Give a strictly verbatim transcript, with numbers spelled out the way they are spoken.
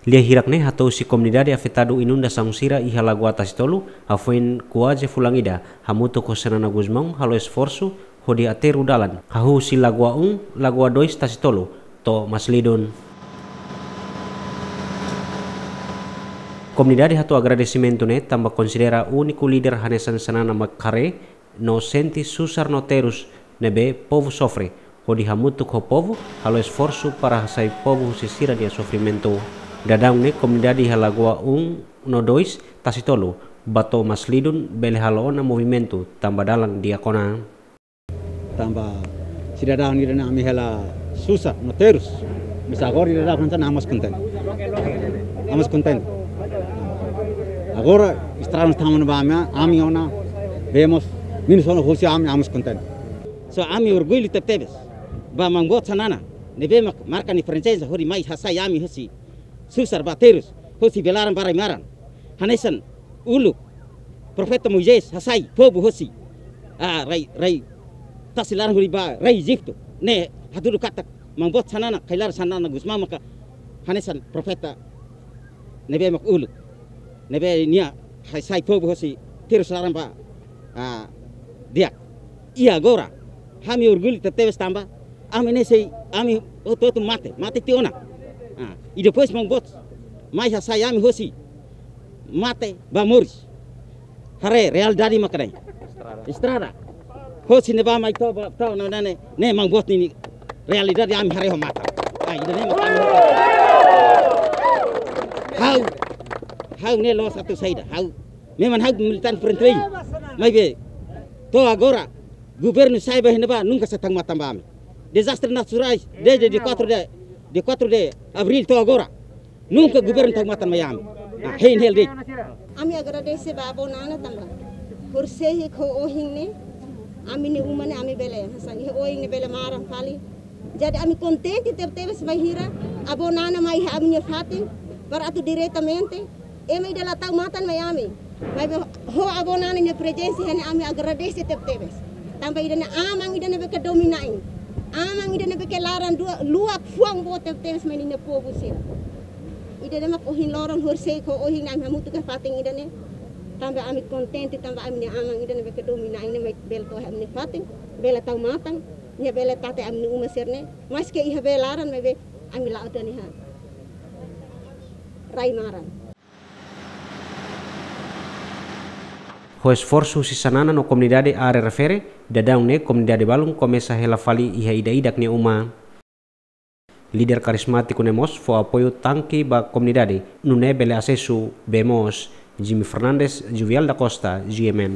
Lia hirak ne'e hato'o husi komunidade afetadu inundasaun sira iha Lagoa Tasitolu, hafoin kuaze fulan ida, hamutuk ho Xanana Gusmão halo esforsu hodi aterru dalan, hahú husi Lagoa um, Lagoa dois Tasitolu, to'o Maslidun. Komunidade hato'o agradesimentu ne'e tanba konsidera úniku líder hanesan Xanana mak haree no sente susar no terus ne'ebé povu sofre, hodi hamutuk ho povu halo esforsu para hasai povu husi sira-nia sofrimentu. Daudaun ne'e komunidade iha Lagoa um no dois Tasitolu, ba to'o Maslidun bele halo ona movimentu tanba dalan di'ak ona. Tanba sidadaun ida-ne'e ami hela susar no terus. Mas agora ida-ne'e hanesan ami mós kontente. Ami mós kontente. Agora estrada ne'e tama ona ba ami, ami ona, bee mós menus ona husi ami, ami mós kontente. So ami orgullu tebetebes ba maun boot Xanana ne'ebé mak marka nia prezensa hodi mai hasai ami husi susar ba terus, husi bee laran ba rai maran. Hanesan uluk profeta Moisés hasai povu husi, ah, rai, rai tasi laran hodi ba rai Ejitu. Ne'e hatudu katak maun boot Xanana, Kay Rala Xanana Gusmão maka hanesan profeta ne'ebé mak uluk, ne'ebé nia hasai povu husi terus laran ba, ah, di'ak. I agora ami orgullu tebetebes tanba ami ne'e sei, ami hotu-hotu mate, mate tiha ona. Ah, i depois maun boot mai hasai ami husi mate ba moris. Haree realidade mak ne'e. Estrada. Estrada. Husi ne'ebá mai to'o ba, to'o ne'e, ne'e, ne'e maun boot nia realidade ami haree ho matan. Ah, ida-ne'e mak ami. Ha'u, ha'u ne'e loos atu saida, ha'u. Memang ha'u militante frente. Maibé to'o agora governu sai ba iha ne'ebá nunka sei tau matan ba ami. Dezastre naturais desde dia quatro de, dia quatro de abril to'o agora. Nunka governu tau matan mai ami. Ah, hein hel de'it. Ami agradese ba Avó Nana tanba horisehik ho ohin ne'e, ami-nia uma ne'e ami bele, hanesan iha oin ne'e bele maran fali. Jadi ami kontente tebetebes bainhira Avó Nana mai iha ami-nia fatin, para atu diretamente ema ida la tau matan mai ami. Maibé ho Avó Nana nia prezensa iha ne'e ami agradese tebetebes. Tanba ida-ne'e aman ida ne'ebé ke domin-na'in. Aman ida ne'ebé ke laran dua, luak fuan boot tebetebes mai ninia povu sira. Ida-ne'e mak ohin loron horisehik ho ohin ne'e ami hamutuk iha fatin ida-ne'e. Tanba ami kontente, tanba ami-nia aman ida ne'ebé ke domin-na'in ne'e mai bele to'o iha ami-nia fatin, bele tau matan, nia bele tata ami-nia uma sira-ne'e. Maske iha bee laran maibé ami la'o tiha ona iha rai maran. Ho esforsu husi Xanana no komunidade área refere, daudaun ne'e komunidade balun komesa hela fali iha ida-idak nia uma. Líder karizmátiku ne'e mós fó apoiu tanki ba komunidade, nune'e bele asesu bee moos. Jimmy Fernandes, Juvial da Costa, G M N.